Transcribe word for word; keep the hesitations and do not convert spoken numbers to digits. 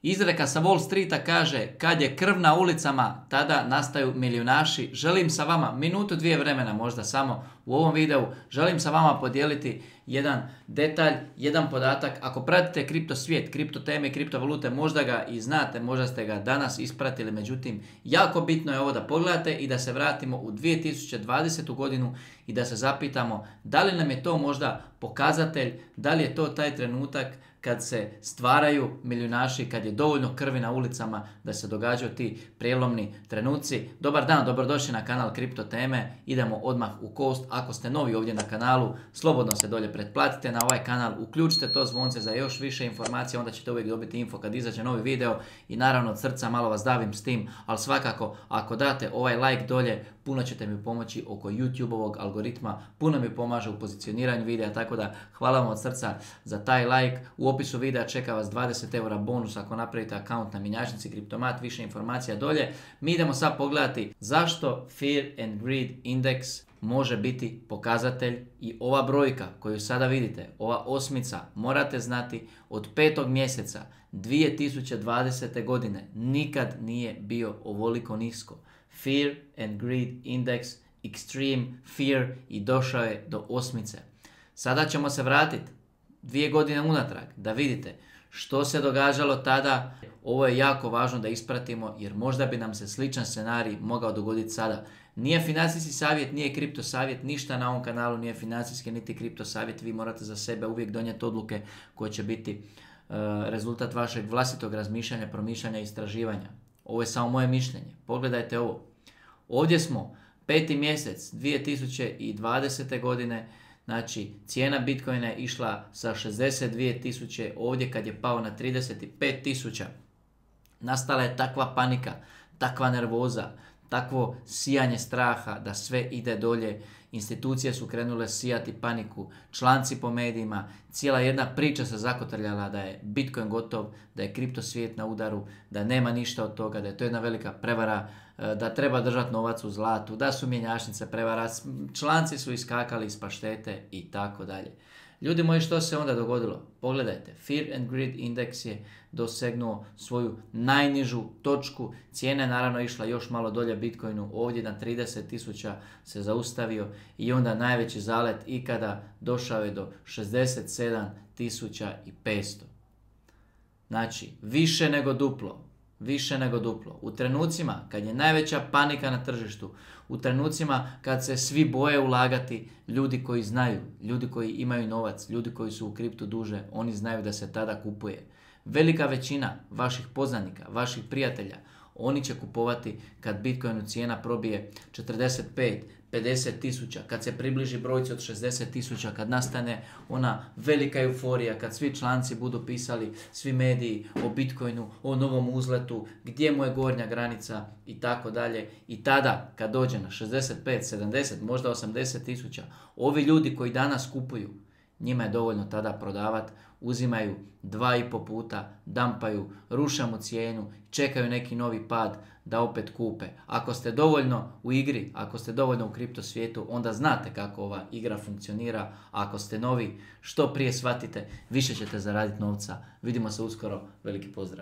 Izreka sa Wall Streeta kaže, kad je krv na ulicama, tada nastaju milijunaši. Želim sa vama, minutu dvije vremena možda samo u ovom videu, želim sa vama podijeliti jedan detalj, jedan podatak. Ako pratite kripto svijet, kripto teme i kriptovalute, možda ga i znate, možda ste ga danas ispratili, međutim, jako bitno je ovo da pogledate i da se vratimo u dvije tisuće dvadesetu godinu i da se zapitamo da li nam je to možda pokazatelj, da li je to taj trenutak kad se stvaraju milijunaši, kad je dovoljno krvi na ulicama da se događaju ti prijelomni trenuci. Dobar dan, dobrodošli na kanal Kripto teme. Idemo odmah u kost. Ako ste novi ovdje na kanalu, slobodno se dolje pretplatite na ovaj kanal, uključite to zvonce za još više informacija, onda ćete uvijek dobiti info kad izađe novi video i naravno od srca malo vas davim s tim, ali svakako ako date ovaj like dolje, puno ćete mi pomoći oko YouTube-ovog algoritma, puno mi pomaže u pozicioniranju videa, tako da hvala vam od srca za taj like. U opisu videa čeka vas dvadeset eura bonus ako napravite akaunt na mjenjačnici Kriptomat, više informacija dolje. Mi idemo sad pogledati zašto Fear and Greed Index može biti pokazatelj i ova brojka koju sada vidite, ova osmica, morate znati od petog mjeseca dvije tisuće dvadesete godine nikad nije bio ovoliko nisko. Fear and Greed Index, Extreme Fear i došao je do osmice. Sada ćemo se vratiti dvije godine unatrag da vidite što se događalo tada. Ovo je jako važno da ispratimo jer možda bi nam se sličan scenarij mogao dogoditi sada. Nije financijski savjet, nije kripto savjet, ništa na ovom kanalu nije financijski niti kripto savjet. Vi morate za sebe uvijek donijeti odluke koje će biti uh, rezultat vašeg vlastitog razmišljanja, promišljanja i istraživanja. Ovo je samo moje mišljenje. Pogledajte ovo. Ovdje smo peti mjesec dvije tisuće dvadesete godine. Znači, cijena Bitcoina je išla sa šezdeset dvije tisuće, ovdje kad je pao na trideset pet tisuća, nastala je takva panika, takva nervoza, takvo sijanje straha da sve ide dolje. Institucije su krenule sijati paniku, članci po medijima, cijela jedna priča se zakotrljala da je Bitcoin gotov, da je kripto svijet na udaru, da nema ništa od toga, da je to jedna velika prevara, da treba držati novac u zlatu, da su mjenjačnice prevara, članci su iskakali iz paštete i tako dalje. Ljudi moji, što se onda dogodilo? Pogledajte, Fear and Greed Index je dosegnuo svoju najnižu točku, cijena je naravno išla još malo dolje Bitcoinu, ovdje na trideset tisuća se zaustavio i onda najveći zalet ikada došao je do šezdeset sedam tisuća petsto. Znači, više nego duplo. Više nego duplo. U trenucima kad je najveća panika na tržištu, u trenucima kad se svi boje ulagati, ljudi koji znaju, ljudi koji imaju novac, ljudi koji su u kriptu duže, oni znaju da se tada kupuje. Velika većina vaših poznanika, vaših prijatelja, oni će kupovati kad Bitcoinu cijena probije četrdeset pet, pedeset tisuća, kad se približi brojci od šezdeset tisuća, kad nastane ona velika euforija, kad svi članci budu pisali, svi mediji o Bitcoinu, o novom uzletu, gdje mu je gornja granica i tako dalje. I tada, kad dođe na šezdeset pet, sedamdeset, možda osamdeset tisuća, ovi ljudi koji danas kupuju, njima je dovoljno tada prodavati, uzimaju dva i po puta, dampaju, ruše mu cijenu, čekaju neki novi pad da opet kupe. Ako ste dovoljno u igri, ako ste dovoljno u kripto svijetu, onda znate kako ova igra funkcionira. A ako ste novi, što prije shvatite, više ćete zaraditi novca. Vidimo se uskoro, veliki pozdrav.